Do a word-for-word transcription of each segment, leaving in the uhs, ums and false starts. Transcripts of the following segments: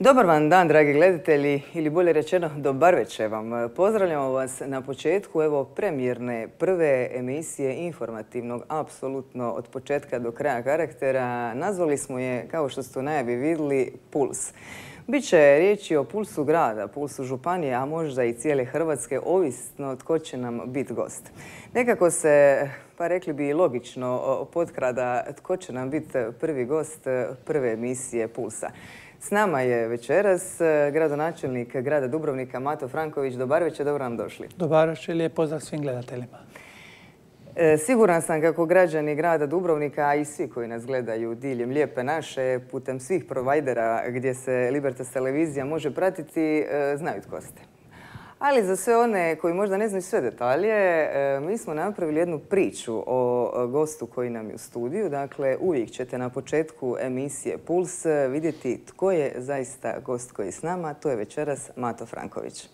Dobar vam dan, dragi gledatelji, ili bolje rečeno, dobar večer vam. Pozdravljamo vas na početku evo premijerne prve emisije informativnog, apsolutno od početka do kraja karaktera. Nazvali smo je, kao što ste u najavi vidjeli, Puls. Biće riječi o pulsu grada, pulsu županije, a možda i cijele Hrvatske, ovisno tko će nam biti gost. Nekako se, pa rekli bi logično, potkrada tko će nam biti prvi gost prve emisije Pulsa. S nama je večeras gradonačelnik grada Dubrovnika Mato Franković. Dobar večer, dobro nam došli. Dobar večer, lijep pozdrav svim gledateljima. Siguran sam kako građani grada Dubrovnika, a i svi koji nas gledaju diljem Lijepe naše, putem svih provajdera gdje se Libertas televizija može pratiti, znaju tko ste. Ali za sve one koji možda ne znaju sve detalje, mi smo napravili jednu priču o gostu koji nam je u studiju. Dakle, uvijek ćete na početku emisije Puls vidjeti tko je zaista gost koji je s nama. To je večeras Mato Franković.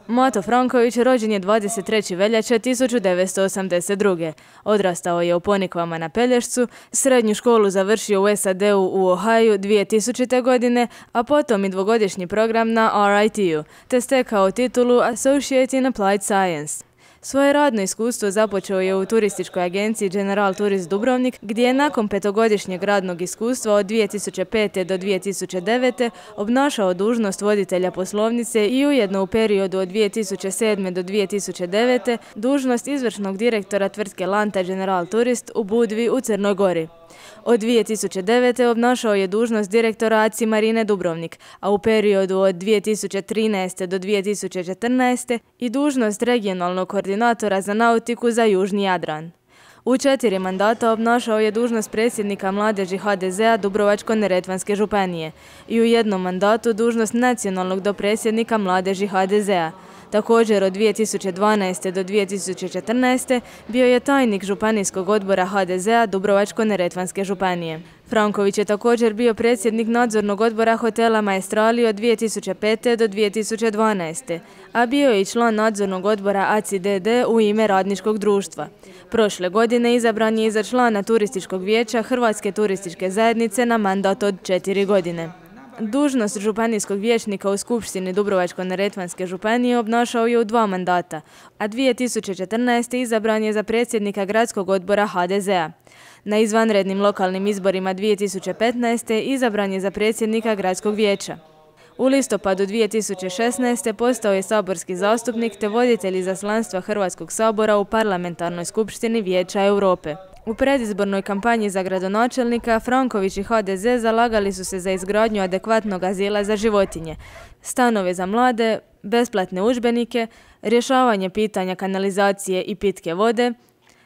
Mato Franković rođen je dvadeset trećeg veljače tisuću devetsto osamdeset druge. Odrastao je u Ponikvama na Pelješcu, srednju školu završio u S A D-u u Ohaju dvije tisućite. godine, a potom i dvogodišnji program na R I T-u, te stekao titulu Associate in Applied Science. Svoje radno iskustvo započeo je u turističkoj agenciji General Tourist Dubrovnik, gdje je nakon petogodišnjeg radnog iskustva od dvije tisuće pete. do dvije tisuće devete. obnašao dužnost voditelja poslovnice i ujedno u periodu od dvije tisuće sedme. do dvije tisuće devete. dužnost izvršnog direktora tvrtke Lanta General Tourist u Budvi u Crnoj Gori. Od dvije tisuće devete. obnašao je dužnost direktora A C I Marine Dubrovnik, a u periodu od dvije tisuće trinaeste. do dvije tisuće četrnaeste. i dužnost regionalnog koordinatora za nautiku za Južni Jadran. U četiri mandata obnašao je dužnost predsjednika mladeži H D Z-a Dubrovačko-neretvanske županije i u jednom mandatu dužnost nacionalnog dopredsjednika mladeži H D Z-a. Također od dvije tisuće dvanaeste. do dvije tisuće četrnaeste. bio je tajnik županijskog odbora H D Z-a Dubrovačko-neretvanske županije. Franković je također bio predsjednik nadzornog odbora hotela Maestrali od dvije tisuće pete. do dvije tisuće dvanaeste. a bio je i član nadzornog odbora A C I D D u ime radničkog društva. Prošle godine izabran je i za člana turističkog vijeća Hrvatske turističke zajednice na mandat od četiri godine. Dužnost županijskog vijećnika u Skupštini Dubrovačko-neretvanske županije obnašao je u dva mandata, a dvije tisuće četrnaeste. izabran je za predsjednika gradskog odbora H D Z-a. Na izvanrednim lokalnim izborima dvije tisuće petnaeste. izabran je za predsjednika gradskog vijeća. U listopadu dvije tisuće šesnaeste. postao je saborski zastupnik te voditelj izaslanstva Hrvatskog sabora u Parlamentarnoj skupštini Vijeća Europe. U predizbornoj kampanji za gradonačelnika Franković i H D Z zalagali su se za izgradnju adekvatnog azila za životinje, stanove za mlade, besplatne udžbenike, rješavanje pitanja kanalizacije i pitke vode,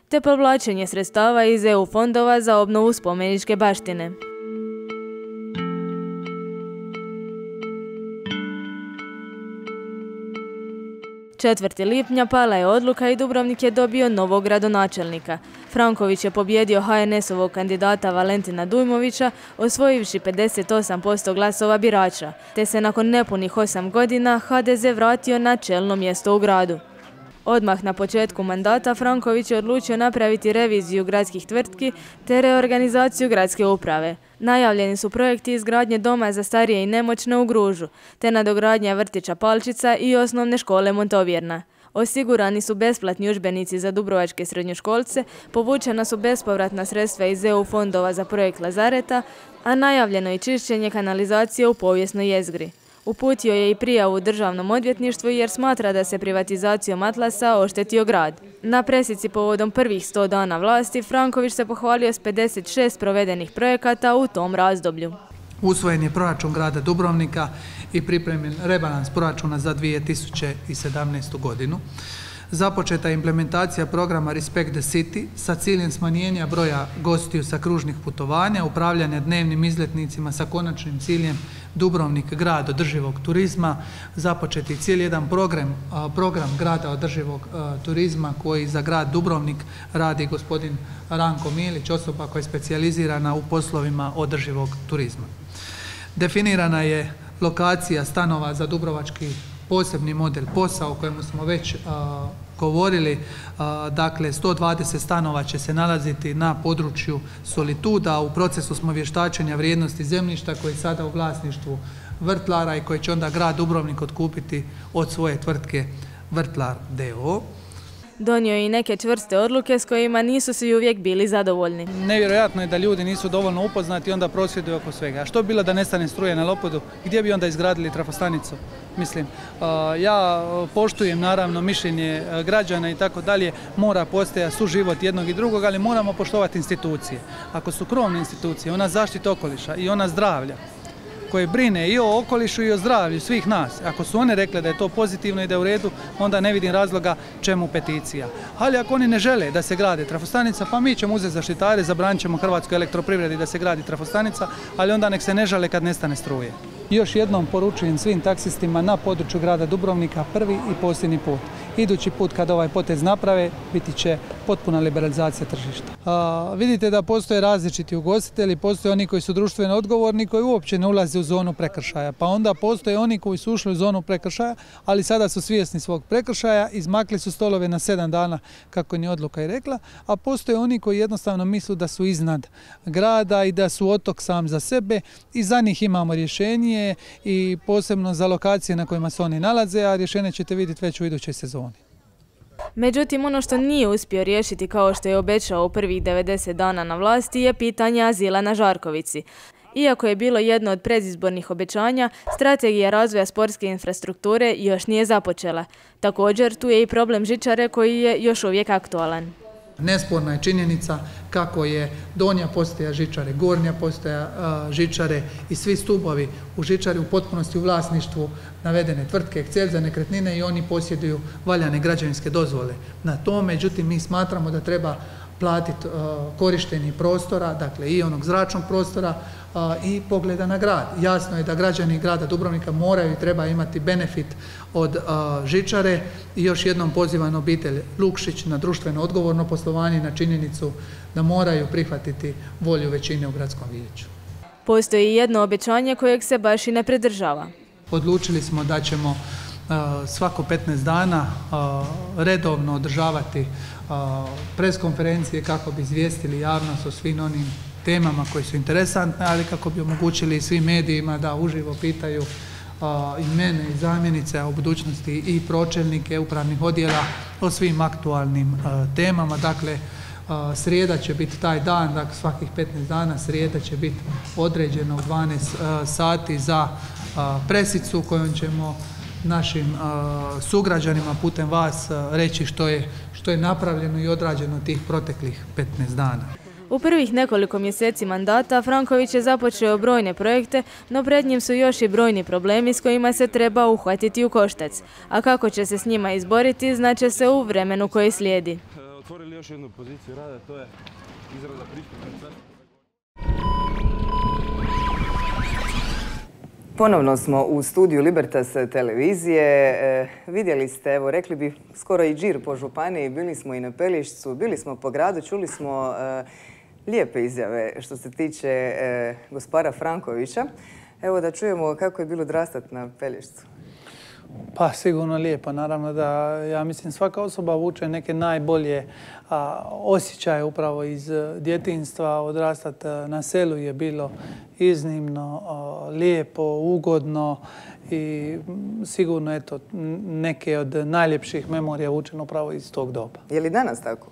te povlačenje sredstava iz E U fondova za obnovu spomeničke baštine. četvrtog lipnja pala je odluka i Dubrovnik je dobio novog gradonačelnika. Franković je pobjedio H N S-ovog kandidata Valentina Dujmovića, osvojivši pedeset osam posto glasova birača, te se nakon nepunih osam godina H D Z vratio na čelno mjesto u gradu. Odmah na početku mandata Franković je odlučio napraviti reviziju gradskih tvrtki te reorganizaciju gradske uprave. Najavljeni su projekti izgradnje doma za starije i nemoćne u Gružu, te nadogradnja vrtića Palčica i osnovne škole Montovjerna. Osigurani su besplatni udžbenici za dubrovačke srednjoškolce, povučena su bespovratna sredstva iz E U fondova za projekt Lazareta, a najavljeno je čišćenje kanalizacije u povijesnoj jezgri. Uputio je i prijavu u državnom odvjetništvu jer smatra da se privatizacijom Atlasa oštetio grad. Na presici povodom prvih sto dana vlasti Franković se pohvalio s pedeset šest provedenih projekata u tom razdoblju. Usvojen je proračun grada Dubrovnika i pripremljen rebalans proračuna za dvije tisuće sedamnaestu. godinu. Započeta je implementacija programa Respect the City sa ciljem smanjenja broja gostiju sa kružnih putovanja, upravljanja dnevnim izletnicima sa konačnim ciljem Dubrovnik grad održivog turizma. Započet je cijeli jedan program, program grada održivog turizma koji za grad Dubrovnik radi gospodin Ranko Milić, osoba koja je specijalizirana u poslovima održivog turizma. Definirana je lokacija stanova za dubrovački posebni model POS-a o kojemu smo već govorili, dakle sto dvadeset stanova će se nalaziti na području Solituda. U procesu smo vještačenja vrijednosti zemljišta koje je sada u vlasništvu Vrtlara i koje će onda grad Dubrovnik otkupiti od svoje tvrtke Vrtlar d o o. Donio je i neke čvrste odluke s kojima nisu svi uvijek bili zadovoljni. Nevjerojatno je da ljudi nisu dovoljno upoznati i onda prosvjeduju oko svega. A što bi bilo da nestane struje na Lopudu? Gdje bi onda izgradili trafostanicu? Mislim, ja poštujem naravno mišljenje građana i tako dalje, mora postojati suživot jednog i drugog, ali moramo poštovati institucije. Ako su krovne institucije, ona zaštita okoliša i ona zdravlja, koje brine i o okolišu i o zdravlju svih nas. Ako su one rekle da je to pozitivno i da je u redu, onda ne vidim razloga čemu peticija. Ali ako oni ne žele da se grade trafostanica, pa mi ćemo uzeti zaštitare, zabranit ćemo Hrvatskoj elektroprivredi da se gradi trafostanica, ali onda nek se ne žale kad nestane struje. Još jednom poručujem svim taksistima na području grada Dubrovnika prvi i posljednji put. Idući put kad ovaj potez naprave, biti će potpuna liberalizacija tržišta. A, vidite da postoje različiti ugostitelji, postoje oni koji su društveno odgovorni, koji uopće ne ulaze u zonu prekršaja. Pa onda postoje oni koji su ušli u zonu prekršaja, ali sada su svjesni svog prekršaja, izmakli su stolove na sedam dana, kako ni odluka i rekla, a postoje oni koji jednostavno misle da su iznad grada i da su otok sam za sebe i za njih imamo rješenje i posebno za lokacije na kojima se oni nalaze, a rješenje ćete vidjeti već u idućoj sezoni. Međutim, ono što nije uspio riješiti kao što je obećao u prvih devedeset dana na vlasti je pitanje azila na Žarkovici. Iako je bilo jedno od predizbornih obećanja, strategija razvoja sportske infrastrukture još nije započela. Također, tu je i problem žičare koji je još uvijek aktualan. Nesporna je činjenica kako je donja postaja žičare, gornja postaja žičare i svi stubovi u žičari u potpunosti u vlasništvu navedene tvrtke Excel za nekretnine i oni posjeduju valjane građevinske dozvole. Na to, međutim, mi smatramo da treba platiti korištenje prostora, dakle i onog zračnog prostora i pogleda na grad. Jasno je da građani grada Dubrovnika moraju i treba imati benefit od žičare i još jednom pozivam obitelj Lukšić na društveno odgovorno poslovanje i na činjenicu da moraju prihvatiti volju većine u gradskom vijeću. Postoji jedno obećanje kojeg se baš i ne pridržava. Odlučili smo da ćemo svako petnaest dana redovno održavati preskonferencije kako bi izvijestili javnost o svim onim temama koje su interesantne, ali kako bi omogućili svim medijima da uživo pitaju i mene i zamjenice, a u budućnosti i pročelnike upravnih odjela o svim aktualnim temama. Dakle, srijeda će biti taj dan, dakle svakih petnaest dana srijeda će biti određena u dvanaest sati za presicu kojom ćemo našim uh, sugrađanima putem vas uh, reći što je, što je napravljeno i odrađeno tih proteklih petnaest dana. U prvih nekoliko mjeseci mandata Franković je započeo brojne projekte, no pred njim su još i brojni problemi s kojima se treba uhvatiti u koštac. A kako će se s njima izboriti, znaće se u vremenu koji slijedi. Otvorili još jednu poziciju rada, to je izrada pristupnica. Ponovno smo u studiju Libertas televizije. E, vidjeli ste, evo, rekli bi skoro i džir po županiji, bili smo i na Pelješcu, bili smo po gradu, čuli smo e, lijepe izjave što se tiče e, gospara Frankovića. Evo da čujemo kako je bilo odrastati na Pelješcu. Pa sigurno lijepo, naravno da ja mislim svaka osoba vuče neke najbolje a, osjećaje upravo iz djetinjstva. Odrastati na selu je bilo iznimno a, lijepo, ugodno i sigurno eto, neke od najljepših memorija vučeno upravo iz tog doba. Je li danas tako?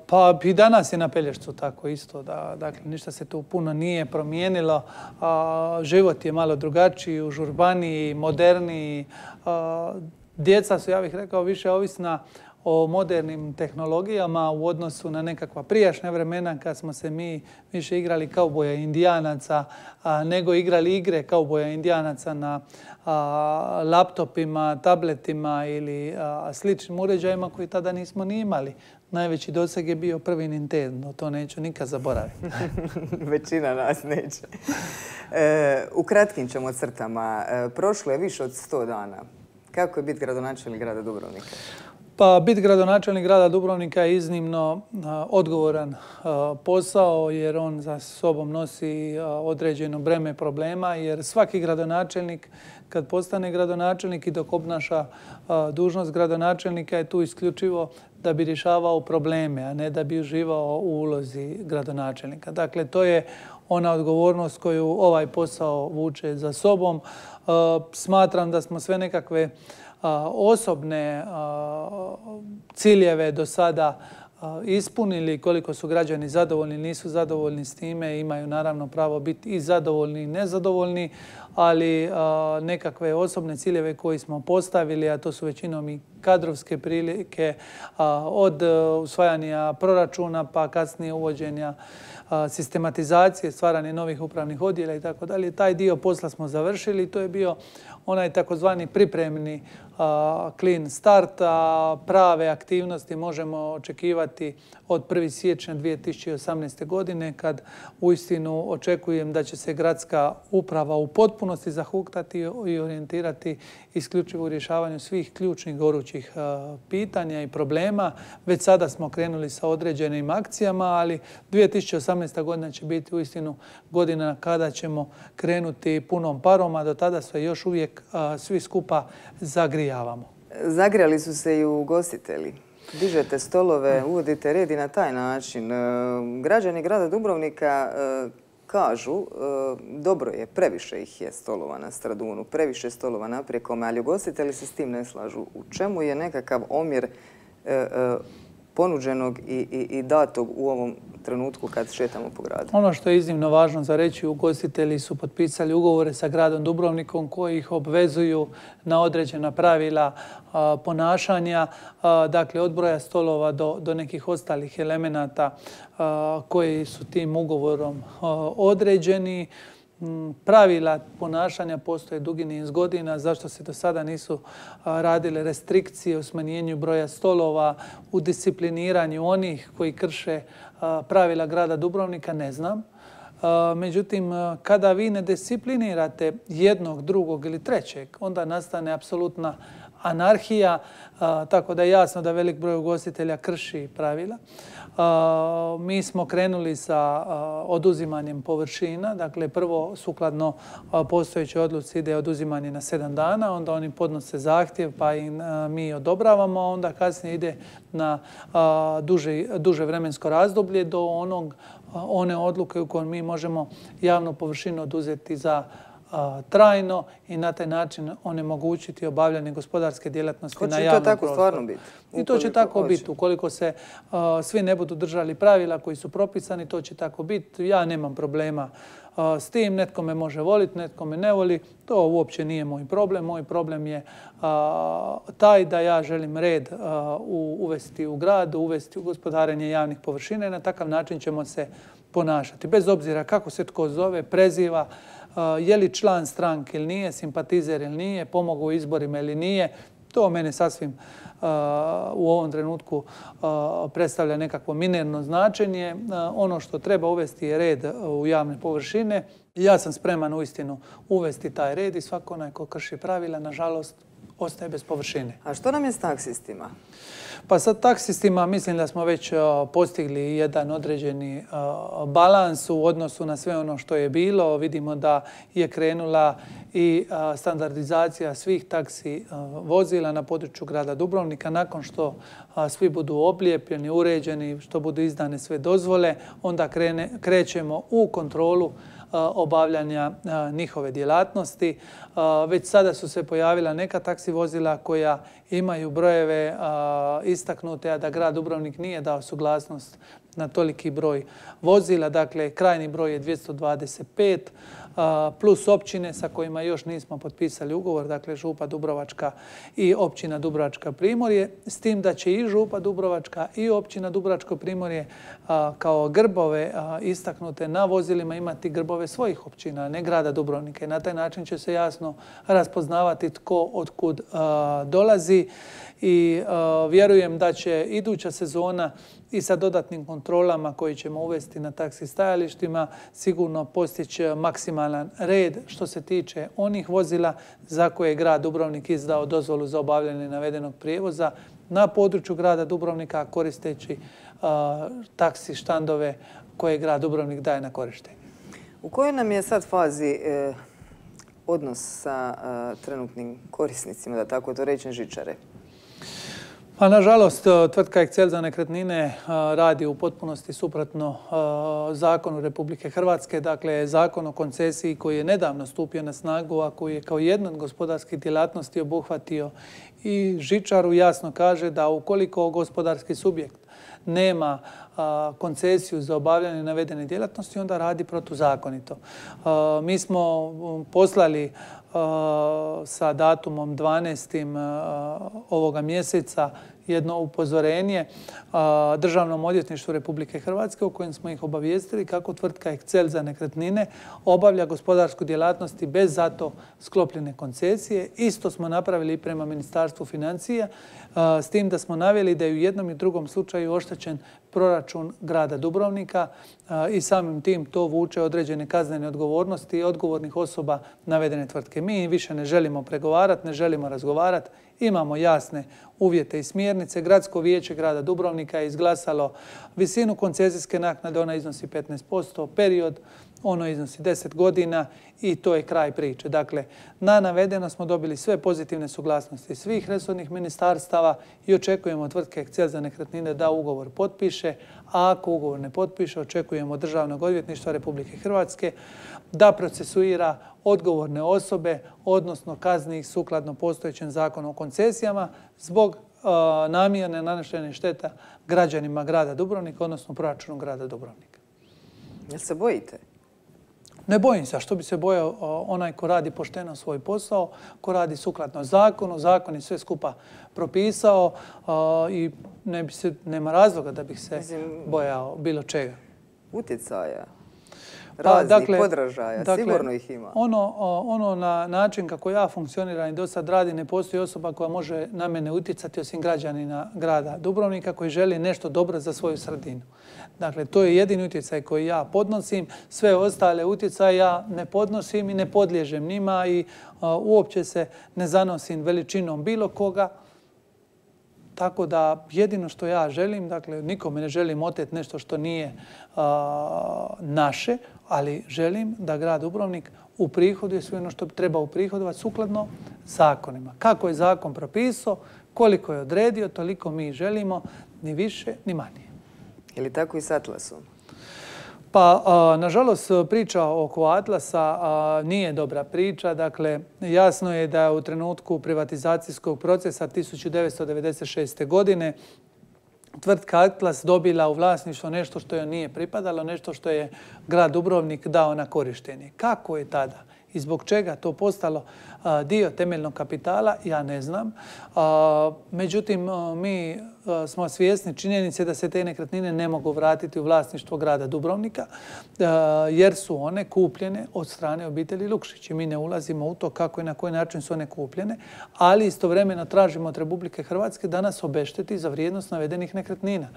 Pa i danas je na Pelješcu tako isto. Da, dakle, ništa se tu puno nije promijenilo. A, život je malo drugačiji, užurbaniji, moderniji. A, djeca su, ja bih rekao, više ovisna o modernim tehnologijama u odnosu na nekakva prijašnja vremena kad smo se mi više igrali kauboja i indijanaca a, nego igrali igre kauboja i indijanaca na a, laptopima, tabletima ili a, sličnim uređajima koji tada nismo ni imali. Najveći doseg je bio prvi Nintendo, to neću nikad zaboraviti. Većina nas neće. E, u kratkim ćemo crtama. E, prošlo je više od sto dana. Kako je biti gradonačelnik grada Dubrovnika? Pa biti gradonačelnik grada Dubrovnika je iznimno odgovoran posao jer on za sobom nosi određeno breme problema jer svaki gradonačelnik kad postane gradonačelnik i dok obnaša dužnost gradonačelnika je tu isključivo da bi rješavao probleme, a ne da bi uživao u ulozi gradonačelnika. Dakle, to je ona odgovornost koju ovaj posao vuče za sobom. Smatram da smo sve nekakve osobne ciljeve do sada ispunili, koliko su građani zadovoljni, nisu zadovoljni s time, imaju naravno pravo biti i zadovoljni i nezadovoljni, ali nekakve osobne ciljeve koje smo postavili, a to su većinom i kadrovske prilike, od usvajanja proračuna pa kasnije uvođenja sistematizacije, stvaranje novih upravnih odjela i tako dalje. Taj dio posla smo završili. To je bio onaj takozvani pripremni clean start, a prave aktivnosti možemo očekivati od prvog siječnja dvije tisuće osamnaeste. godine kad uistinu očekujem da će se gradska uprava u potpunosti zahuktati i orijentirati isključivo u rješavanju svih ključnih gorućih pitanja i problema. Već sada smo krenuli sa određenim akcijama, ali dvije tisuće osamnaesta. godina će biti uistinu godina kada ćemo krenuti punom parom, a do tada sve još uvijek svi skupa zagrijavamo. Zagrijali su se i ugostitelji. Dižete stolove, uvodite red i na taj način. Građani grada Dubrovnika kažu, dobro je, previše ih je stolova na Stradunu, previše stolova na Prijekome, ali ugostitelji se s tim ne slažu. U čemu je nekakav omjer ponuđenog i datog u ovom trenutku kad šetamo po gradu? Ono što je iznimno važno za reći, ugostitelji su potpisali ugovore sa gradom Dubrovnikom koji ih obvezuju na određena pravila ponašanja, dakle od broja stolova do nekih ostalih elemenata koji su tim ugovorom određeni. Pravila ponašanja postoje dugi niz godina, zašto se do sada nisu radile restrikcije u smanjenju broja stolova, u discipliniranju onih koji krše pravila grada Dubrovnika, ne znam. Međutim, kada vi ne disciplinirate jednog, drugog ili trećeg, onda nastane apsolutna anarhija, tako da je jasno da velik broj ugostitelja krši pravila. Mi smo krenuli sa oduzimanjem površina. Dakle, prvo sukladno postojećoj odluci ide oduzimanje na sedam dana, onda oni podnose zahtjev pa im mi odobravamo, a onda kasnije ide na duže vremensko razdoblje do onog, one odluke u kojoj mi možemo javnu površinu oduzeti za trajno i na taj način onemogućiti obavljanje gospodarske djelatnosti na javnom prostoru. Hoće to tako stvarno biti? I to će tako biti. Ukoliko se svi ne budu držali pravila koji su propisani, to će tako biti. Ja nemam problema s tim. Netko me može voliti, netko me ne voli. To uopće nije moj problem. Moj problem je taj da ja želim red uvesti u grad, uvesti u gospodarenje javnih površina i na takav način ćemo se ponašati. Bez obzira kako se tko zove, preziva, je li član stranke ili nije, simpatizer ili nije, pomogao u izborima ili nije, to mene sasvim u ovom trenutku predstavlja nekakvo minerno značenje. Ono što treba uvesti je red u javne površine. Ja sam spreman uistinu uvesti taj red i svako onaj ko krši pravila, nažalost, ostaje bez površine. A što nam je s taksistima? Pa sa taksistima mislim da smo već postigli jedan određeni balans u odnosu na sve ono što je bilo. Vidimo da je krenula i standardizacija svih taksi vozila na području grada Dubrovnika. Nakon što svi budu oblijepljeni, uređeni, što budu izdane sve dozvole, onda krećemo u kontrolu obavljanja njihove djelatnosti. Već sada su se pojavila neka taksi vozila koja imaju brojeve istaknute, a da grad Dubrovnik nije dao suglasnost na toliki broj vozila. Dakle, krajnji broj je dvjesto dvadeset pet plus općine sa kojima još nismo potpisali ugovor, dakle Župa Dubrovačka i općina Dubrovačka Primorje, s tim da će i Župa Dubrovačka i općina Dubrovačko Primorje kao grbove istaknute na vozilima imati grbove svojih općina, ne grada Dubrovnika. I na taj način će se jasno raspoznavati tko otkud dolazi i vjerujem da će iduća sezona i sa dodatnim kontrolama koji ćemo uvesti na taksi stajalištima sigurno postići maksimalan red što se tiče onih vozila za koje je grad Dubrovnik izdao dozvolu za obavljanje navedenog prijevoza na području grada Dubrovnika koristeći uh, taksi štandove koje grad Dubrovnik daje na korištenje. U kojoj nam je sad fazi eh, odnos sa eh, trenutnim korisnicima, da tako to rečem, žičare? Pa, nažalost, tvrtka Excel za nekretnine radi u potpunosti suprotno zakonu Republike Hrvatske. Dakle, zakon o koncesiji koji je nedavno stupio na snagu, a koji je kao jedna od gospodarskih djelatnosti obuhvatio i žičaru, jasno kaže da ukoliko gospodarski subjekt nema koncesiju za obavljanje navedene djelatnosti, onda radi protuzakonito. Mi smo poslali sa datumom dvanaestim ovoga mjeseca jedno upozorenje Državnom odvjetništvu Republike Hrvatske u kojem smo ih obavijestili kako tvrtka Excel za nekretnine obavlja gospodarsku djelatnost bez zato sklopljene koncesije. Isto smo napravili i prema Ministarstvu financija, s tim da smo naveli da je u jednom i drugom slučaju oštećen proračun grada Dubrovnika i samim tim to vuče određene kaznene odgovornosti odgovornih osoba navedene tvrtke. Mi više ne želimo pregovarati, ne želimo razgovarati. Imamo jasne uvjete i smjernice. Gradsko vijeće grada Dubrovnika je izglasalo visinu koncesijske naknade, ona iznosi petnaest posto, period, ono iznosi deset godina i to je kraj priče. Dakle, na navedeno smo dobili sve pozitivne suglasnosti svih resornih ministarstava i očekujemo od tvrtke Excel za nekretnine da ugovor potpiše, a ako ugovor ne potpiše, očekujemo od Državnog odvjetništva Republike Hrvatske da procesuira odgovorne osobe, odnosno kazni ih sukladno postojećem zakonu o koncesijama zbog uh, namjerne nanošenja šteta građanima grada Dubrovnika, odnosno proračunu grada Dubrovnika. Jel se bojite? Ne bojim se, a što bi se bojao onaj ko radi pošteno svoj posao, ko radi sukladno zakonu, zakon je sve skupa propisao i ne bi se, nema razloga da bih se bojao bilo čega. Utjecaja, Pa, raznih dakle, podražaja, dakle, sigurno ih ima. Ono, ono na način kako ja funkcioniram i do sad radi, ne postoji osoba koja može na mene utjecati osim građanina grada Dubrovnika koji želi nešto dobro za svoju sredinu. Dakle, to je jedini utjecaj koji ja podnosim. Sve ostale utjecaje ja ne podnosim i ne podliježem njima i uh, uopće se ne zanosim veličinom bilo koga. Tako da jedino što ja želim, dakle nikome ne želim oteti nešto što nije uh, naše, ali želim da grad Dubrovnik uprihoduje sve ono što treba uprihodovati sukladno zakonima. Kako je zakon propisao, koliko je odredio, toliko mi želimo, ni više, ni manje. Je li tako i s Atlasom? Pa, a, nažalost, priča oko Atlasa a, nije dobra priča. Dakle, jasno je da u trenutku privatizacijskog procesa tisuću devetsto devedeset šeste. godine tvrtka Atlas dobila u vlasništvo nešto što joj nije pripadalo, nešto što je grad Dubrovnik dao na korištenje. Kako je tada i zbog čega to postalo a, dio temeljnog kapitala, ja ne znam. A, međutim, a, mi a, smo svjesni činjenice da se te nekretnine ne mogu vratiti u vlasništvo grada Dubrovnika, a, jer su one kupljene od strane obitelji Lukšić. I mi ne ulazimo u to kako i na koji način su one kupljene, ali istovremeno tražimo od Republike Hrvatske da nas obešteti za vrijednost navedenih nekretnina.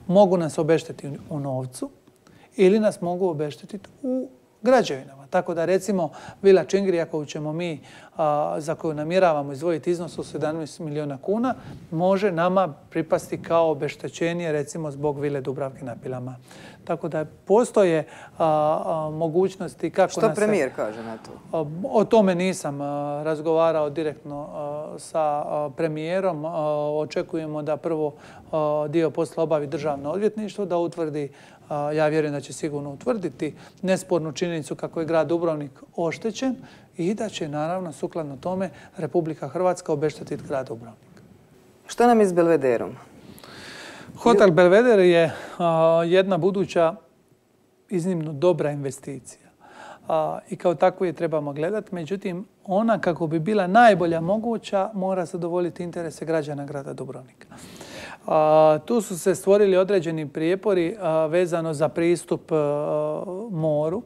Mogu nas obeštetiti u novcu ili nas mogu obeštetiti u građevinama. Tako da recimo Vila Čingrija koju ćemo mi, a, za koju namjeravamo izdvojiti iznos od sedamnaest milijuna kuna, može nama pripasti kao obeštećenje recimo zbog Vile Dubravke na Pilama. Tako da postoje a, a, mogućnosti kako Što nas... Što premijer kaže na to? A, o tome nisam a, razgovarao direktno a, sa a, premijerom. A, očekujemo da prvo a, dio posla obavi Državno odvjetništvo, da utvrdi, a, ja vjerujem da će sigurno utvrditi nespornu činjenicu kako je grad Dubrovnik oštećen i da će naravno sukladno tome Republika Hrvatska obeštetiti grad Dubrovnik. Što nam je s Belvederom? Hotel Belveder je a, jedna buduća iznimno dobra investicija a, i kao takvu je trebamo gledati. Međutim, ona kako bi bila najbolja moguća mora zadovoljiti interese građana grada Dubrovnika. A, tu su se stvorili određeni prijepori a, vezano za pristup a, moru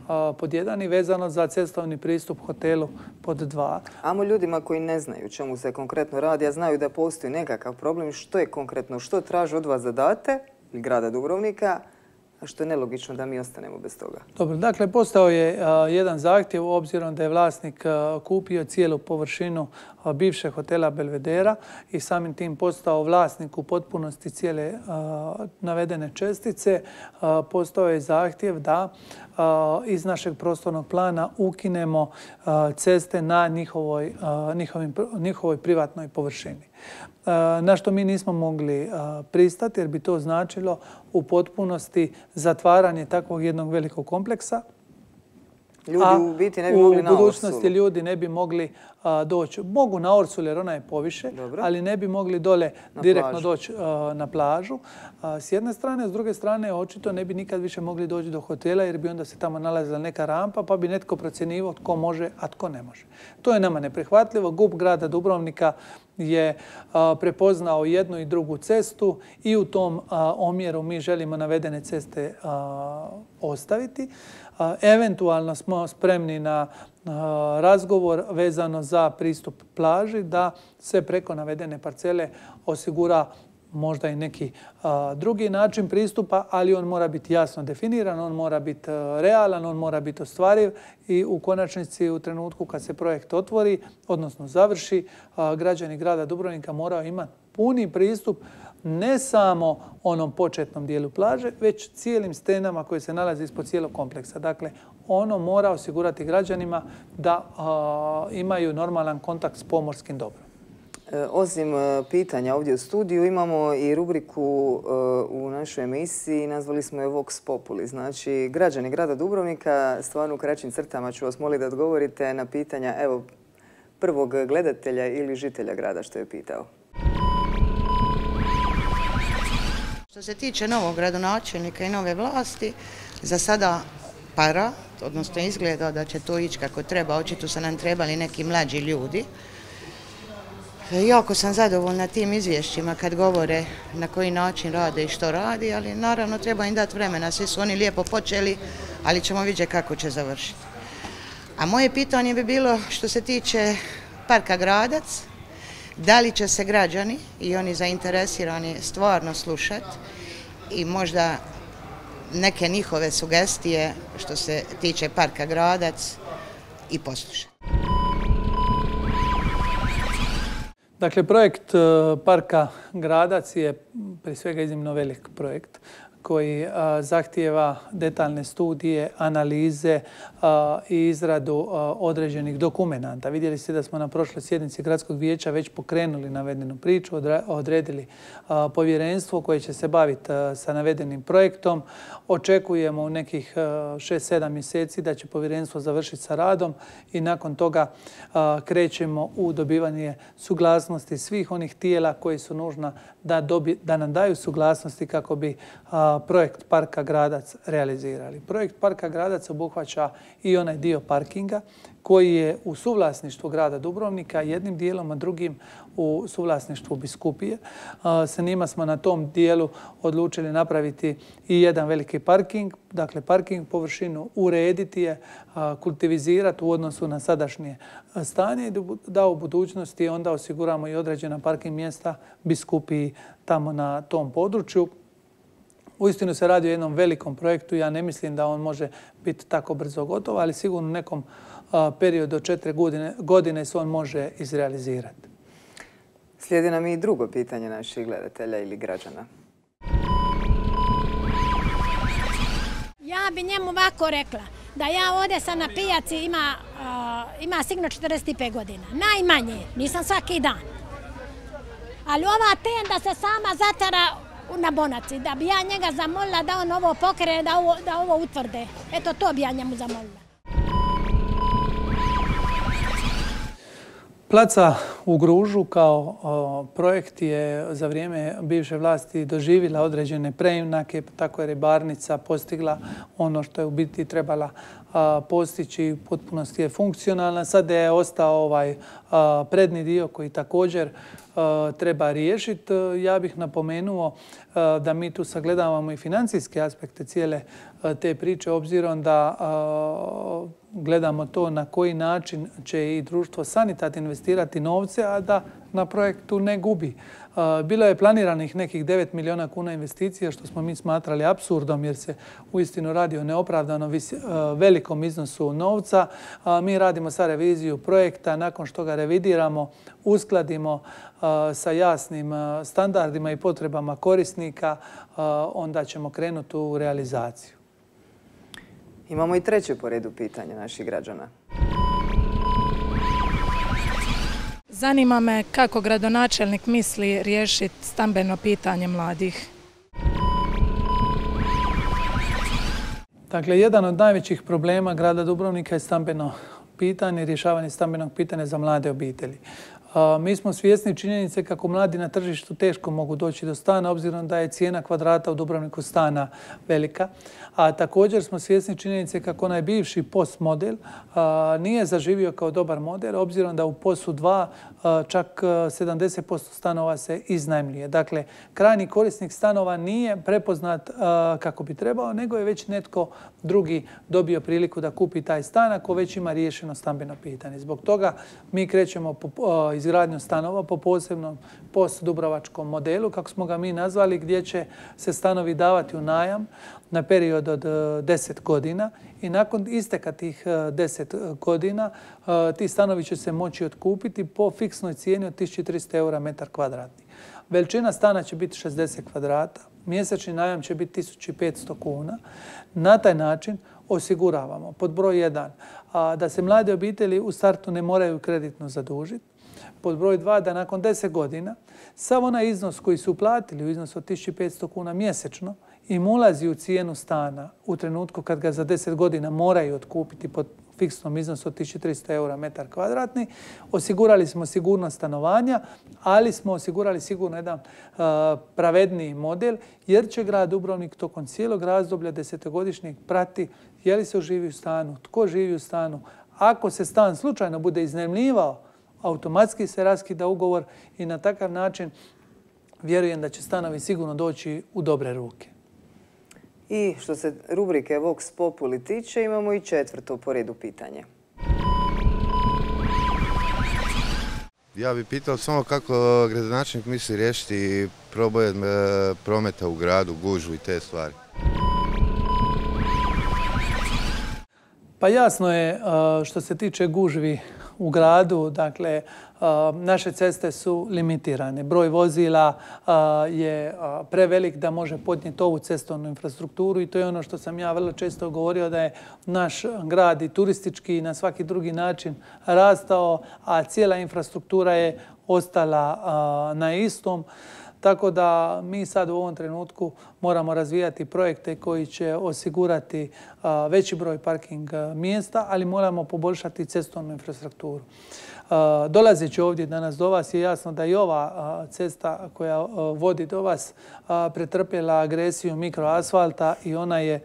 a, pod jedan i vezano za cestovni pristup hotelu pod dva. Amo ljudima koji ne znaju čemu se konkretno radi, a znaju da postoji nekakav problem, što je konkretno, što traže od vas da date, grada Dubrovnika, a što je nelogično da mi ostanemo bez toga. Dobro, dakle, postao je jedan zahtjev obzirom da je vlasnik kupio cijelu površinu bivšeg hotela Belvedera i samim tim postao vlasnik u potpunosti cijele navedene čestice. Postao je zahtjev da iz našeg prostornog plana ukinemo ceste na njihovoj, njihovoj privatnoj površini. Na što mi nismo mogli pristati jer bi to značilo u potpunosti zatvaranje takvog jednog velikog kompleksa. Ljudi u biti ne bi mogli na Orsulu. U budućnosti ljudi ne bi mogli doći. Mogu na Orsulu jer ona je poviše, ali ne bi mogli dole direktno doći na plažu. S jedne strane, s druge strane, očito ne bi nikad više mogli doći do hotela jer bi onda se tamo nalazila neka rampa pa bi netko procjenjivao tko može, a tko ne može. To je nama neprihvatljivo. G U P grada Dubrovnika je prepoznao jednu i drugu cestu i u tom omjeru mi želimo navedene ceste ostaviti. Eventualno smo spremni na razgovor vezano za pristup plaži da se preko navedene parcele osigura možda i neki drugi način pristupa, ali on mora biti jasno definiran, on mora biti realan, on mora biti ostvariv i u konačnici u trenutku kad se projekt otvori, odnosno završi, građani grada Dubrovnika moraju imati puni pristup ne samo onom početnom dijelu plaže, već cijelim stenama koje se nalaze ispod cijelog kompleksa. Dakle, ono mora osigurati građanima da imaju normalan kontakt s pomorskim dobrom. Osim pitanja ovdje u studiju, imamo i rubriku u našoj emisiji, nazvali smo je Vox Populi. Znači, građani grada Dubrovnika, stvarno u kraćim crtama ću vas moliti da odgovorite na pitanja evo, prvog gledatelja ili žitelja grada što je pitao. Što se tiče novog gradonačelnika i nove vlasti, za sada para, odnosno izgleda da će to ići kako treba, očito su nam trebali neki mlađi ljudi. Jako sam zadovoljna tim izvješćima kad govore na koji način rade i što radi, ali naravno treba im dati vremena. Svi su oni lijepo počeli, ali ćemo vidjeti kako će završiti. A moje pitanje bi bilo što se tiče Parka Gradac, da li će se građani i oni zainteresirani stvarno slušati i možda neke njihove sugestije što se tiče Parka Gradac i poslušati. Dakle, projekt Parka Gradac je prije svega iznimno velik projekt koji zahtijeva detaljne studije, analize i izradu određenih dokumenata. Vidjeli ste da smo na prošloj sjednici Gradskog vijeća već pokrenuli navedenu priču, odredili povjerenstvo koje će se baviti sa navedenim projektom. Očekujemo u nekih šest sedam mjeseci da će povjerenstvo završiti sa radom i nakon toga krećemo u dobivanje suglasnosti svih onih tijela koji su nužna da, dobi, da nam daju suglasnosti kako bi projekt Parka Gradac realizirali. Projekt Parka Gradac obuhvaća i onaj dio parkinga koji je u suvlasništvu grada Dubrovnika, jednim dijelom, a drugim u suvlasništvu biskupije. Sa njima smo na tom dijelu odlučili napraviti i jedan veliki parking, dakle parking površinu urediti je, kultivizirati u odnosu na sadašnje stanje i da u budućnosti onda osiguramo i određena parking mjesta biskupiji tamo na tom području. Uistinu se radi o jednom velikom projektu. Ja ne mislim da on može biti tako brzo gotov, ali sigurno u nekom periodu od četiri godine, godine se on može izrealizirati. Slijedi nam i drugo pitanje naših gledatelja ili građana. Ja bi njemu ovako rekla da ja ovdje sam na pijaci ima, uh, ima sigurno četrdeset pet godina. Najmanje, nisam svaki dan. Ali ova tenda se sama zatara na Bonaci, da bi ja njega zamolila da on ovo pokrene, da ovo, da ovo utvrde. Eto, to bi ja njemu zamolila. Placa u Gružu kao o, projekt je za vrijeme bivše vlasti doživjela određene preinake, tako je ribarnica postigla ono što je u biti trebala a, postići, u potpunosti je funkcionalna. Sada je ostao ovaj a, prednji dio koji također a, treba riješiti. Ja bih napomenuo a, da mi tu sagledavamo i financijske aspekte cijele a, te priče, obzirom da a, gledamo to na koji način će i društvo Sanitat investirati novce, a da na projektu ne gubi. Bilo je planiranih nekih devet milijuna kuna investicija, što smo mi smatrali apsurdom jer se uistinu radi o neopravdano velikom iznosu novca. Mi radimo sad reviziju projekta, nakon što ga revidiramo, uskladimo sa jasnim standardima i potrebama korisnika, onda ćemo krenuti u realizaciju. Imamo i treće po redu pitanje naših građana. Zanima me kako gradonačelnik misli riješiti stambeno pitanje mladih. Dakle, jedan od najvećih problema grada Dubrovnika je stambeno pitanje, rješavanje stambenog pitanja za mlade obitelji. Mi smo svjesni činjenice kako mladi na tržištu teško mogu doći do stana, obzirom da je cijena kvadrata u Dubrovniku stana velika. A također smo svjesni činjenice kako onaj bivši P O S model nije zaživio kao dobar model, obzirom da u P O S-u dva čak sedamdeset posto stanova se iznajmljuje. Dakle, krajnji korisnik stanova nije prepoznat kako bi trebao, nego je već netko drugi dobio priliku da kupi taj stan ako već ima riješeno stambeno pitanje. Zbog toga mi krećemo po izgradnju stanova po posebnom P O S dubrovačkom modelu, kako smo ga mi nazvali, gdje će se stanovi davati u najam na period od deset godina i nakon isteka tih deset godina ti stanovi će se moći otkupiti po fiksnoj cijeni od tisuću tristo eura metar kvadratni. Veličina stana će biti šezdeset kvadrata, mjesečni najam će biti tisuću petsto kuna. Na taj način osiguravamo pod broj jedan da se mlade obitelji u startu ne moraju kreditno zadužiti, pod broj dva da nakon deset godina sav onaj iznos koji su uplatili u iznosu od tisuću petsto kuna mjesečno im ulazi u cijenu stana u trenutku kad ga za deset godina moraju otkupiti pod fiksnom iznosu od tisuću tristo eura metar kvadratni. Osigurali smo sigurnost stanovanja, ali smo osigurali sigurno jedan uh, pravedniji model, jer će grad Dubrovnik tokom cijelog razdoblja desetogodišnjeg prati je li se živi u stanu, tko živi u stanu. Ako se stan slučajno bude iznajmljivao, automatski se raskida ugovor i na takav način vjerujem da će stanovi sigurno doći u dobre ruke. I što se rubrike Vox Populi tiče, imamo i četvrto po redu pitanje. Ja bih pitao samo kako gradonačelnik misli riješiti problem prometa u gradu, gužvu i te stvari. Pa jasno je što se tiče gužvi u gradu, dakle, naše ceste su limitirane. Broj vozila je prevelik da može podnijeti ovu cestovnu infrastrukturu i to je ono što sam ja vrlo često govorio, da je naš grad i turistički i na svaki drugi način rastao, a cijela infrastruktura je ostala na istom. Tako da mi sad u ovom trenutku moramo razvijati projekte koji će osigurati veći broj parking mjesta, ali moramo poboljšati cestovnu infrastrukturu. Dolazeći ovdje danas do vas je jasno da i ova cesta koja vodi do vas pretrpjela agresiju mikroasfalta i ona je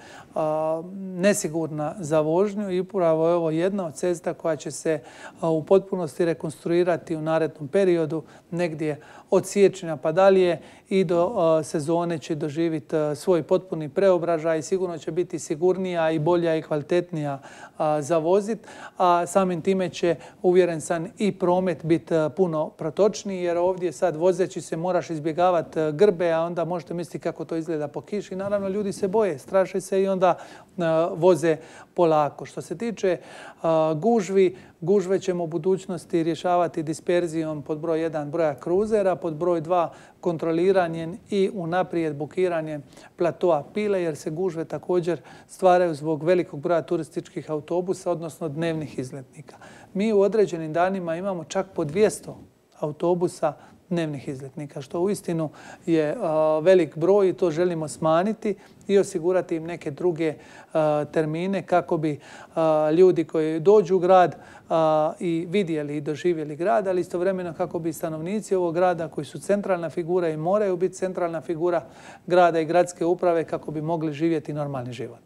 nesigurna za vožnju i upravo je ovo jedna od cesta koja će se u potpunosti rekonstruirati u narednom periodu, negdje od siječnja pa dalje i do sezone će doživjeti svoj potpuni preobražaj i sigurno će biti sigurnija i bolja i kvalitetnija za vozit, a samim time će, uvjeren sam, i promet biti puno protočniji, jer ovdje sad vozeći se moraš izbjegavati grbe, a onda možete misliti kako to izgleda po kiši. Naravno, ljudi se boje, straše se i onda voze polako. Što se tiče gužvi, gužve ćemo u budućnosti rješavati disperzijom pod broj jedan broja kruzera, pod broj dva kontroliranjem i unaprijed bukiranjem platoa Pile, jer se gužve također stvaraju zbog velikog broja turističkih autobusa, odnosno dnevnih izletnika. Mi u određenim danima imamo čak po dvjesto autobusa dnevnih izletnika, što uistinu je velik broj i to želimo smanjiti i osigurati im neke druge termine kako bi ljudi koji dođu u grad i vidjeli i doživjeli grad, ali istovremeno kako bi stanovnici ovog grada koji su centralna figura i moraju biti centralna figura grada i gradske uprave kako bi mogli živjeti normalni život.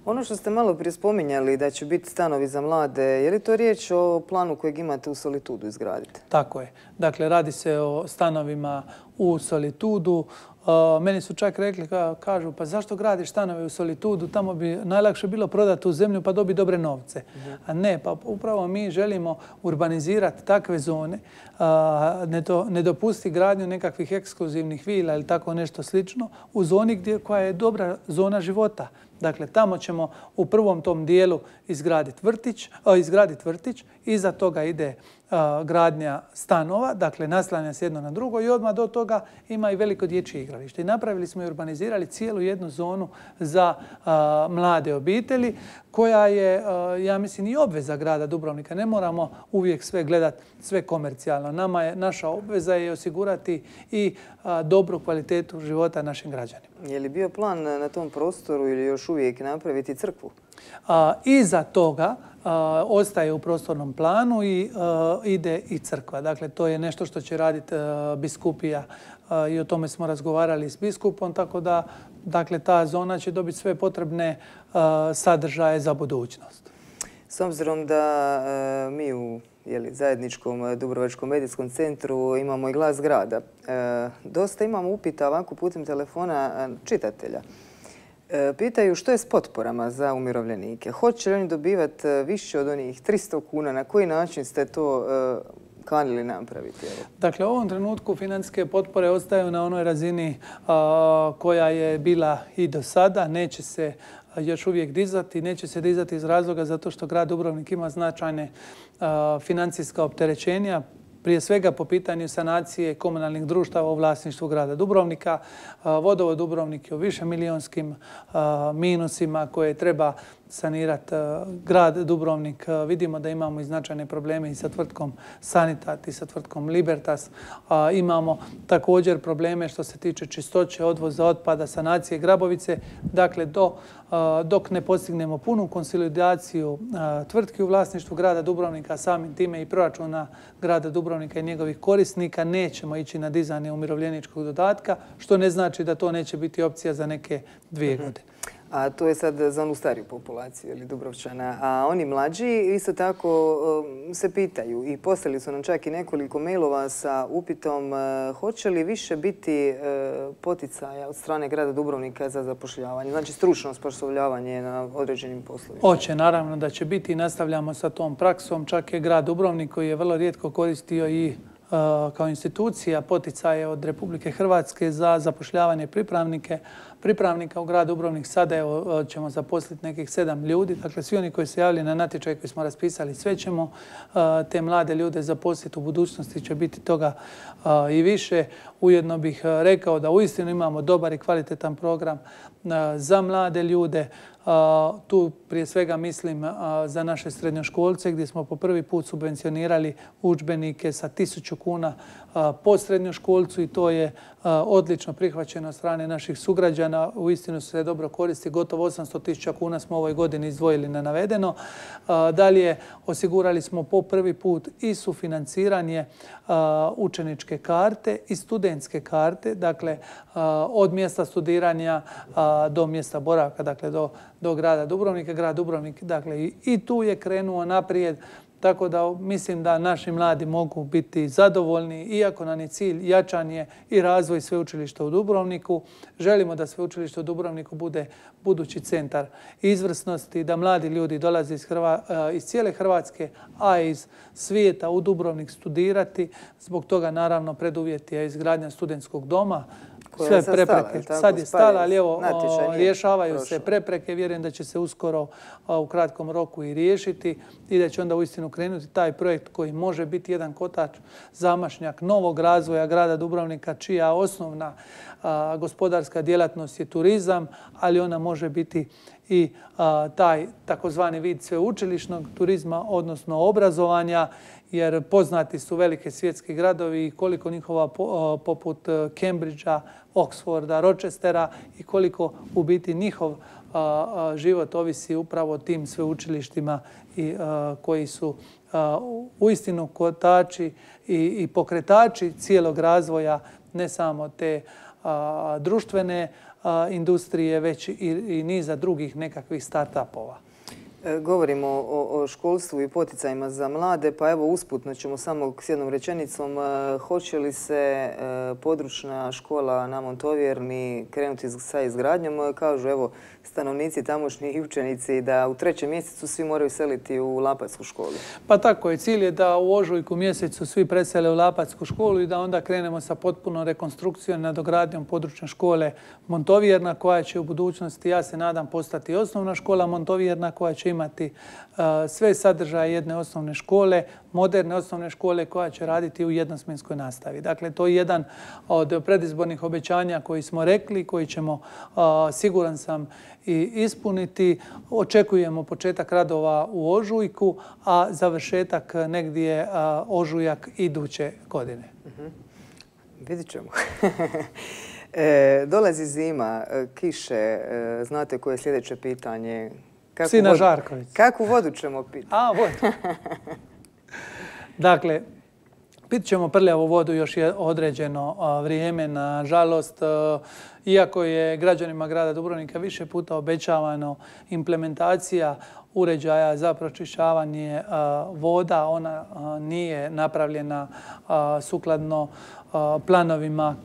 Ono što ste malo prije spominjali da će biti stanovi za mlade, je li to riječ o planu kojeg imate u Solitudu izgraditi? Tako je. Dakle, radi se o stanovima u Solitudu. Meni su čak rekli, kažu, pa zašto gradiš stanove u Solitudu, tamo bi najlakše bilo prodati tu zemlju pa dobiti dobre novce. A ne, pa upravo mi želimo urbanizirati takve zone, ne dopusti gradnju nekakvih ekskluzivnih vila ili tako nešto slično u zoni koja je dobra zona života. Dakle, tamo ćemo u prvom tom dijelu izgraditi vrtić, izgraditi vrtić, iza toga ide gradnja stanova, dakle naslanja se jedno na drugo i odmah do toga ima i veliko dječje igralište. I napravili smo i urbanizirali cijelu jednu zonu za mlade obitelji koja je, ja mislim, i obveza grada Dubrovnika. Ne moramo uvijek sve gledati, sve komercijalno. Nama je, naša obveza je osigurati i dobru kvalitetu života našim građanima. Je li bio plan na tom prostoru ili još uvijek napraviti crkvu? Iza toga ostaje u prostornom planu i ide i crkva. Dakle, to je nešto što će raditi biskupija i o tome smo razgovarali s biskupom, tako da dakle, ta zona će dobiti sve potrebne sadržaje za budućnost. S obzirom da mi u zajedničkom Dubrovačkom medijskom centru imamo i glas grada, dosta imamo upita ovako putem telefona čitatelja. Pitaju što je s potporama za umirovljenike. Hoće li oni dobivati više od onih tristo kuna? Na koji način ste to kanili napraviti? Dakle, u ovom trenutku financijske potpore ostaju na onoj razini koja je bila i do sada. Neće se još uvijek dizati. Neće se dizati iz razloga zato što grad Dubrovnik ima značajne financijska opterećenja. Prije svega po pitanju sanacije komunalnih društava u vlasništvu grada Dubrovnika. Vodovod Dubrovnik je u višemilijonskim minusima koje treba sanirati grad Dubrovnik. Vidimo da imamo i značajne probleme i sa tvrtkom Sanitat i sa tvrtkom Libertas. Imamo također probleme što se tiče čistoće, odvoza otpada, sanacije Grabovice. Dakle, dok ne postignemo punu konsolidaciju tvrtki u vlasništvu grada Dubrovnika, samim time i proračuna grada Dubrovnika i njegovih korisnika, nećemo ići na dizanje umirovljeničkog dodatka, što ne znači da to neće biti opcija za neke dvije godine. A to je sad za onu stariju populaciju ili Dubrovčana. A oni mlađi isto tako se pitaju i poslali su nam čak i nekoliko mailova sa upitom hoće li više biti poticaja od strane grada Dubrovnika za zapošljavanje, znači stručno osposobljavanje na određenim poslovima. Hoće, naravno da će biti i nastavljamo sa tom praksom. Čak je grad Dubrovnik koji je vrlo rijetko koristio i kao institucija poticaje od Republike Hrvatske za zapošljavanje pripravnike. Pripravnika u gradu Dubrovnik sada evo, ćemo zaposliti nekih sedam ljudi. Dakle, svi oni koji se javili na natječaj koji smo raspisali, sve ćemo te mlade ljude zaposliti. U budućnosti će biti toga i više. Ujedno bih rekao da uistinu imamo dobar i kvalitetan program za mlade ljude. Tu prije svega mislim za naše srednjoškolce gdje smo po prvi put subvencionirali udžbenike sa tisuću kuna po srednjoškolcu i to je odlično prihvaćeno od strane naših sugrađana. Uistinu se dobro koristi. Gotovo osamsto tisuća kuna smo u ovoj godini izdvojili na navedeno. Dalje osigurali smo po prvi put i sufinanciranje učeničke karte i studentske karte. Dakle, od mjesta studiranja do mjesta boravka, dakle do, do grada Dubrovnika. Grad Dubrovnik, dakle, i tu je krenuo naprijed. Tako da mislim da naši mladi mogu biti zadovoljni, iako nam je cilj jačanje i razvoj sveučilišta u Dubrovniku. Želimo da sveučilište u Dubrovniku bude budući centar izvrsnosti, da mladi ljudi dolaze iz, Hrva, iz cijele Hrvatske, a iz svijeta u Dubrovnik studirati. Zbog toga naravno preduvjet je izgradnja studentskog doma. Sve prepreke. Sad je stala, ali evo, rješavaju se prepreke. Vjerujem da će se uskoro u kratkom roku i riješiti i da će onda uistinu krenuti taj projekt koji može biti jedan kotač, zamašnjak novog razvoja grada Dubrovnika, čija osnovna gospodarska djelatnost je turizam, ali ona može biti i taj takozvani vid sveučilišnog turizma, odnosno obrazovanja, jer poznati su velike svjetski gradovi i koliko njihova poput Cambridgea, Oxforda, Rochestera i koliko u biti njihov život ovisi upravo o tim sveučilištima i koji su uistinu kotači i pokretači cijelog razvoja ne samo te društvene industrije, već i niza drugih nekakvih start-upova. Govorimo o školstvu i poticajima za mlade, pa evo usputno ćemo samo s jednom rečenicom. Hoće li se područna škola na Montovjerni krenuti sa izgradnjom? Kažu evo stanovnici tamošnji i učenici da u trećem mjesecu svi moraju seliti u Lapatsku školu. Pa tako je. Cilj je da u ožujku mjesecu svi presele u Lapatsku školu i da onda krenemo sa potpunom rekonstrukcijom i nadogradnjom područne škole Montovjerna koja će u budućnosti, ja se nadam, postati osnovna škola Montovjerna koja će imati sve sadržaje jedne osnovne škole, moderne osnovne škole koja će raditi u jednosmjenskoj nastavi. Dakle, to je jedan od predizbornih obećanja koji smo rekli, koji ćemo, siguran sam, i ispuniti. Očekujemo početak radova u ožujku, a završetak negdje ožujak iduće godine. Vidit ćemo. Dolazi zima, kiše, znate koje je sljedeće pitanje? Sina Žarković. Kakvu vodu ćemo piti? A, vodu. Dakle, pit ćemo prljavu vodu još određeno vrijeme. Nažalost, iako je građanima grada Dubrovnika više puta obećavano implementacija uređaja za pročišćavanje voda, ona nije napravljena sukladno planovima.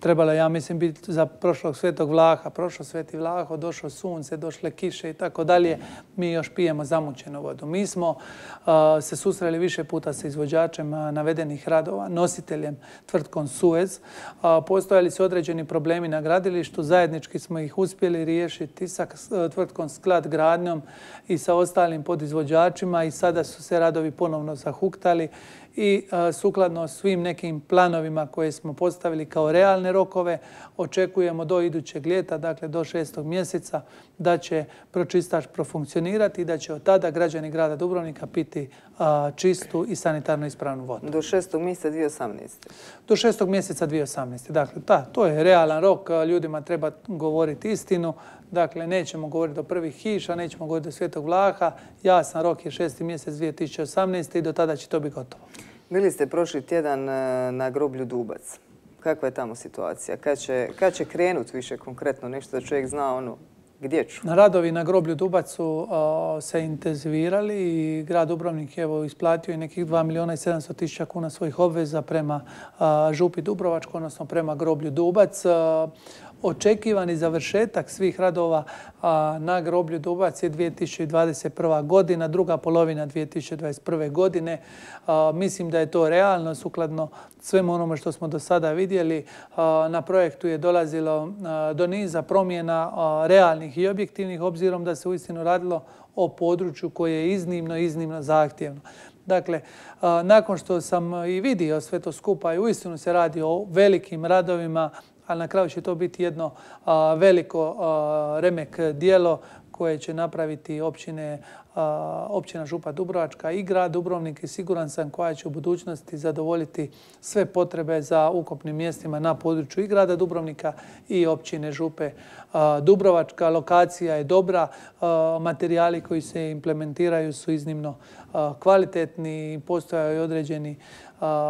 Trebalo, ja mislim, biti za prošlog Svetog Vlaha, prošlo Sveti Vlaho, došlo sunce, došle kiše i tako dalje. Mi još pijemo zamućenu vodu. Mi smo se susreli više puta sa izvođačem navedenih radova, nositeljem tvrtkom Suez. Postojali su određeni problemi na gradilištu, zajednički smo ih uspjeli riješiti sa tvrtkom Sklad gradnjom i sa ostalim podizvođačima i sada su se radovi ponovno zahuktali i sukladno svim nekim planovima koje smo postavili kao realne rokove očekujemo do idućeg ljeta, dakle do šestog mjeseca, da će pročistač profunkcionirati i da će od tada građani grada Dubrovnika piti čistu i sanitarno ispravnu vodu. Do šestog mjeseca dvije tisuće osamnaeste. Do šestog mjeseca dvije tisuće osamnaeste. Dakle, da, to je realan rok. Ljudima treba govoriti istinu. Dakle, nećemo govoriti do prvih kiša, nećemo govoriti do Svetog Vlaha. Jasan rok je šesti mjesec dvije tisuće osamnaeste. i do tada će to biti gotovo. Bili ste prošli tjedan na groblju Dubac. Kakva je tamo situacija? Kad će, kad će krenuti više konkretno nešto da čovjek zna ono gdje ću? Radovi na groblju Dubac su se intenzivirali i grad Dubrovnik je isplatio i nekih dva milijuna i sedamsto tisuća kuna svojih obveza prema župi Dubrovačkoj, odnosno prema groblju Dubac. Očekivani završetak svih radova na groblju Dubac je dvije tisuće dvadeset prva. godina, druga polovina dvije tisuće dvadeset prve. godine. Mislim da je to realno, sukladno svemu onome što smo do sada vidjeli. Na projektu je dolazilo do niza promjena realnih i objektivnih, obzirom da se uistinu radilo o području koje je iznimno, iznimno zahtjevno. Dakle, nakon što sam i vidio sve to skupa i uistinu se radi o velikim radovima, ali na kraju će to biti jedno veliko remek djelo koje će napraviti općine, općina Župa Dubrovačka i grad Dubrovnik i siguran sam koja će u budućnosti zadovoljiti sve potrebe za ukupnim mjestima na području i grada Dubrovnika i općine Župe Dubrovačka. Lokacija je dobra, materijali koji se implementiraju su iznimno kvalitetni i postojaju određeni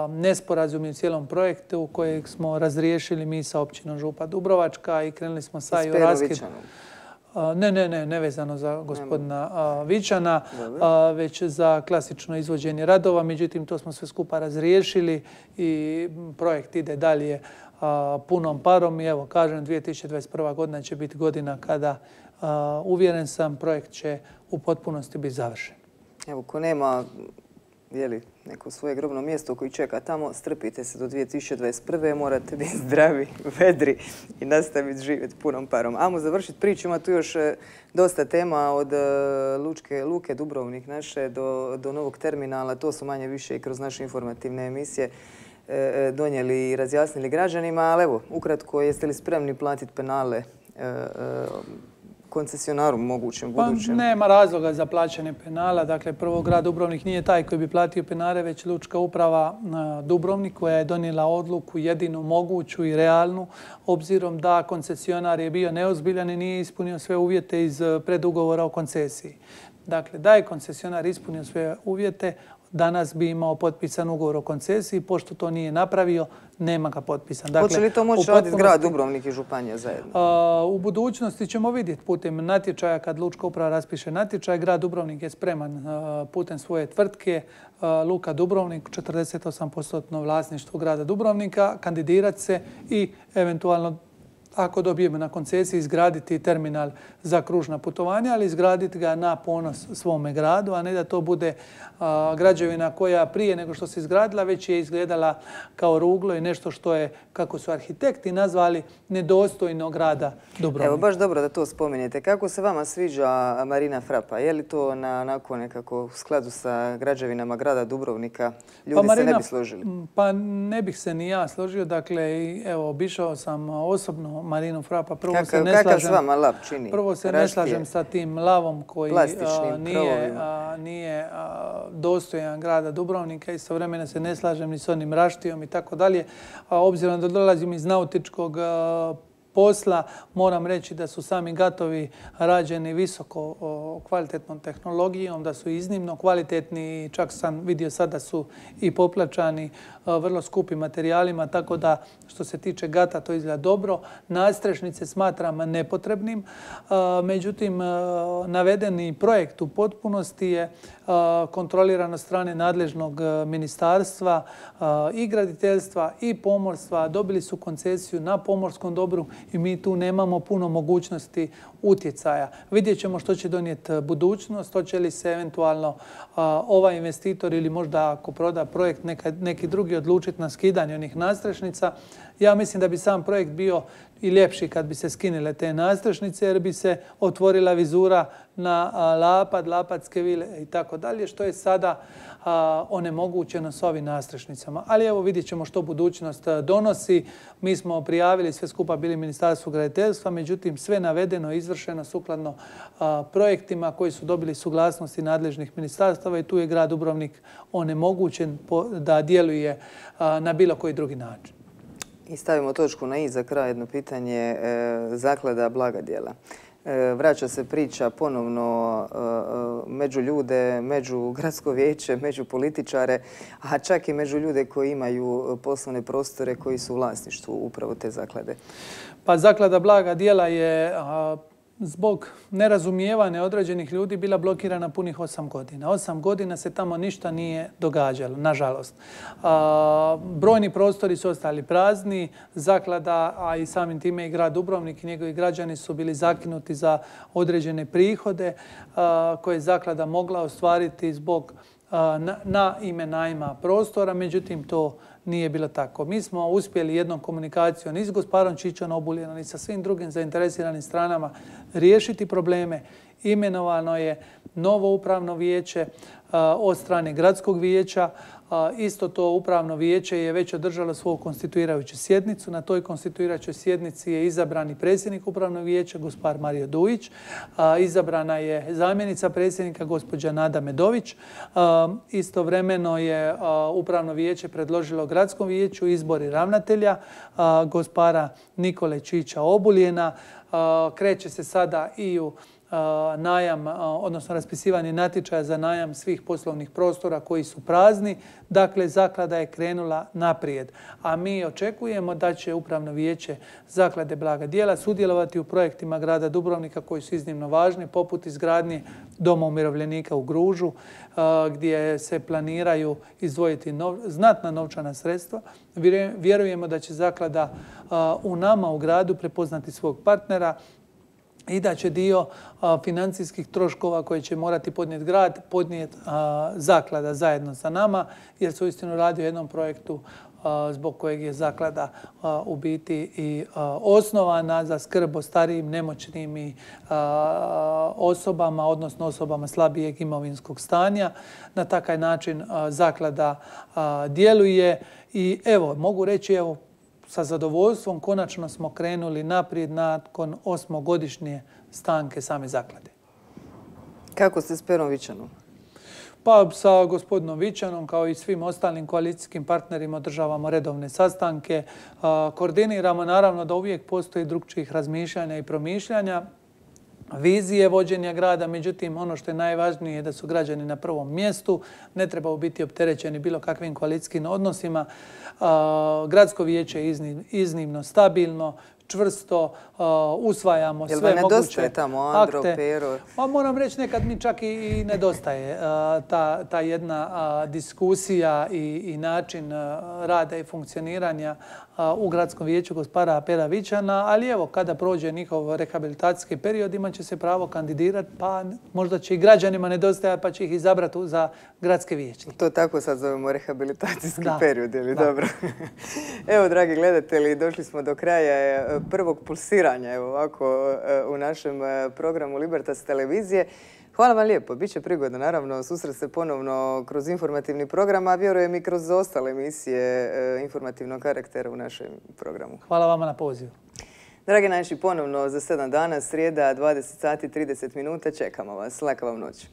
nesporazumi u cijelom projektu kojeg smo razriješili mi sa općinom Župa Dubrovačka i krenuli smo sa i u raskid. Ne, ne, ne, nevezano za gospodina Vičana, već za klasično izvođenje radova. Međutim, to smo sve skupa razriješili i projekt ide dalje punom parom. I evo, kažem, dvije tisuće dvadeset prva. godina će biti godina kada, uvjeren sam, projekt će u potpunosti biti završen. Evo, ko nema neko svoje grobno mjesto koji čeka tamo, strpite se do dvije tisuće dvadeset prve. morate biti zdravi, vedri i nastaviti živjeti punom parom. Ajmo završiti priču, ima tu još dosta tema od Lučke luke Dubrovnik naše do, do novog terminala. To su manje više i kroz naše informativne emisije donijeli i razjasnili građanima, ali evo, ukratko, jeste li spremni platiti penale koncesionaru mogućem budućem? Pa nema razloga za plaćanje penala. Dakle, prvo, grad Dubrovnik nije taj koji bi platio penale, već Lučka uprava Dubrovnik koja je donijela odluku jedinu moguću i realnu, obzirom da koncesionar je bio neozbiljan i nije ispunio sve uvjete iz predugovora o koncesiji. Dakle, da je koncesionar ispunio sve uvjete, danas bi imao potpisan ugovor o koncesiji, pošto to nije napravio, nema ga potpisan. Dakle, hoće li to moći raditi grad Dubrovnik i županija zajedno? A, u budućnosti ćemo vidjeti putem natječaja, kad Lučka uprava raspiše natječaj, grad Dubrovnik je spreman a, putem svoje tvrtke a, Luka Dubrovnik, četrdeset osam posto vlasništvo grada Dubrovnika, kandidirati se i eventualno, ako dobijemo na koncesiji, izgraditi terminal za kružna putovanja, ali izgraditi ga na ponos svome gradu, a ne da to bude a, građevina koja prije nego što se izgradila već je izgledala kao ruglo i nešto što je, kako su arhitekti nazvali, nedostojno grada Dubrovnika. Evo, baš dobro da to spomenete. Kako se vama sviđa Marina Frapa? Je li to na, onako nekako u skladu sa građevinama grada Dubrovnika? Ljudi pa Marina, se ne bi složili? Pa ne bih se ni ja složio. Dakle, evo, obišao sam osobno Marinu Frapa. Prvo Kakav, se ne kakav slažem, s vama lav čini? Prvo se ne slažem sa tim lavom koji a, nije, a, nije a, dostojan grada Dubrovnika. Istovremeno se ne slažem ni s onim raštijom i tako dalje. Obzirom da dolazim iz nautičkog a, posla, moram reći da su sami gatovi rađeni visoko o, kvalitetnom tehnologijom, da su iznimno kvalitetni, čak sam vidio sad da su i poplačani a, vrlo skupim materijalima, tako da što se tiče gata to izgleda dobro. Nadstrešnice smatram nepotrebnim, a, međutim a, navedeni projekt u potpunosti je a, kontroliran od strane nadležnog ministarstva a, i graditeljstva i pomorstva. Dobili su koncesiju na pomorskom dobru i mi tu nemamo puno mogućnosti utjecaja. Vidjet ćemo što će donijeti budućnost, hoće li se eventualno a, ovaj investitor ili možda ako proda projekt neka, neki drugi odlučiti na skidanje onih nadstrešnica. Ja mislim da bi sam projekt bio i ljepši kad bi se skinile te nadstrešnice jer bi se otvorila vizura na a, Lapad, Lapatske vile i tako dalje, što je sada a, onemogućeno s ovim nadstrešnicama. Ali evo vidjet ćemo što budućnost donosi. Mi smo prijavili sve skupa bili Ministarstvu graditeljstva, međutim sve navedeno i izvršeno sukladno a, projektima koji su dobili suglasnosti nadležnih ministarstava i tu je grad Dubrovnik onemogućen po, da djeluje a, na bilo koji drugi način. I stavimo točku na i za kraj jedno pitanje. E, zaklada Blaga djela. E, vraća se priča ponovno e, među ljude, među gradsko vijeće, među političare, a čak i među ljude koji imaju poslovne prostore koji su u vlasništvu upravo te zaklade. Pa zaklada Blaga djela je a, zbog nerazumijevanja određenih ljudi bila blokirana punih osam godina. Osam godina se tamo ništa nije događalo, nažalost. A, brojni prostori su ostali prazni, zaklada, a i samim time i grad Dubrovnik i njegovi građani su bili zakinuti za određene prihode a, koje je zaklada mogla ostvariti zbog a, na, na ime najma prostora, međutim to nije bilo tako. Mi smo uspjeli jednom komunikacijom i s gospodarom Čičom Obuljenom i sa svim drugim zainteresiranim stranama riješiti probleme. Imenovano je novo upravno vijeće od strane gradskog vijeća. Isto to upravno vijeće je već održalo svoju konstituirajuću sjednicu. Na toj konstituirajućoj sjednici je izabrani predsjednik upravnog vijeća, gospodar Mario Dujić. Izabrana je zamjenica predsjednika, gospođa Nada Medović. Istovremeno je upravno vijeće predložilo gradskom vijeću izbori ravnatelja, gospodara Nikole Čiča Obuljena. Kreće se sada i u najam, odnosno raspisivanje natječaja za najam svih poslovnih prostora koji su prazni. Dakle, zaklada je krenula naprijed. A mi očekujemo da će upravno vijeće zaklade Blaga djela sudjelovati u projektima grada Dubrovnika koji su iznimno važni, poput izgradnje Doma umirovljenika u Gružu, gdje se planiraju izdvojiti nov, znatna novčana sredstva. Vjerujemo da će zaklada u nama u gradu prepoznati svog partnera i da će dio a, financijskih troškova koje će morati podnijeti grad, podnijeti a, zaklada zajedno sa nama, jer se uistinu radi o jednom projektu a, zbog kojeg je zaklada a, u biti i a, osnovana za skrb o starijim, nemoćnim i a, osobama, odnosno osobama slabijeg imovinskog stanja. Na takav način a, zaklada a, djeluje i evo, mogu reći, evo, sa zadovoljstvom konačno smo krenuli naprijed nakon osmogodišnje stanke same zaklade. Kako ste s Perom Vičanom? Pa sa gospodinom Vičanom kao i svim ostalim koalicijskim partnerima održavamo redovne sastanke. Koordiniramo naravno da uvijek postoji drugčijih razmišljanja i promišljanja. vizije vođenja grada, međutim ono što je najvažnije je da su građani na prvom mjestu, ne trebaju biti opterećeni bilo kakvim koalicijskim odnosima. Gradsko vijeće je iznimno stabilno, čvrsto, usvajamo sve moguće akte. Jel vam nedostaje tamo Andro, Pero? Moram reći, nekad mi čak i nedostaje ta jedna diskusija i način rada i funkcioniranja u gradskom vijeću gospodara Pera Vičana, ali evo, kada prođe njihov rehabilitacijski period, imat će se pravo kandidirati, pa možda će i građanima nedostajati, pa će ih izabrati za gradske vijeće. To tako sad zovemo rehabilitacijski period, ili dobro? Evo, dragi gledatelji, došli smo do kraja prvog pulsiranja, evo ovako, u našem programu Libertas televizije. Hvala vam lijepo. Biće prigodno, naravno, susret se ponovno kroz informativni program, a vjerujem i kroz ostale emisije informativnog karaktera u našem programu. Hvala vama na pozivu. Dragi naši, ponovno za sedam dana, srijeda, dvadeset sati i trideset minuta. Čekamo vas. Laka vam noć.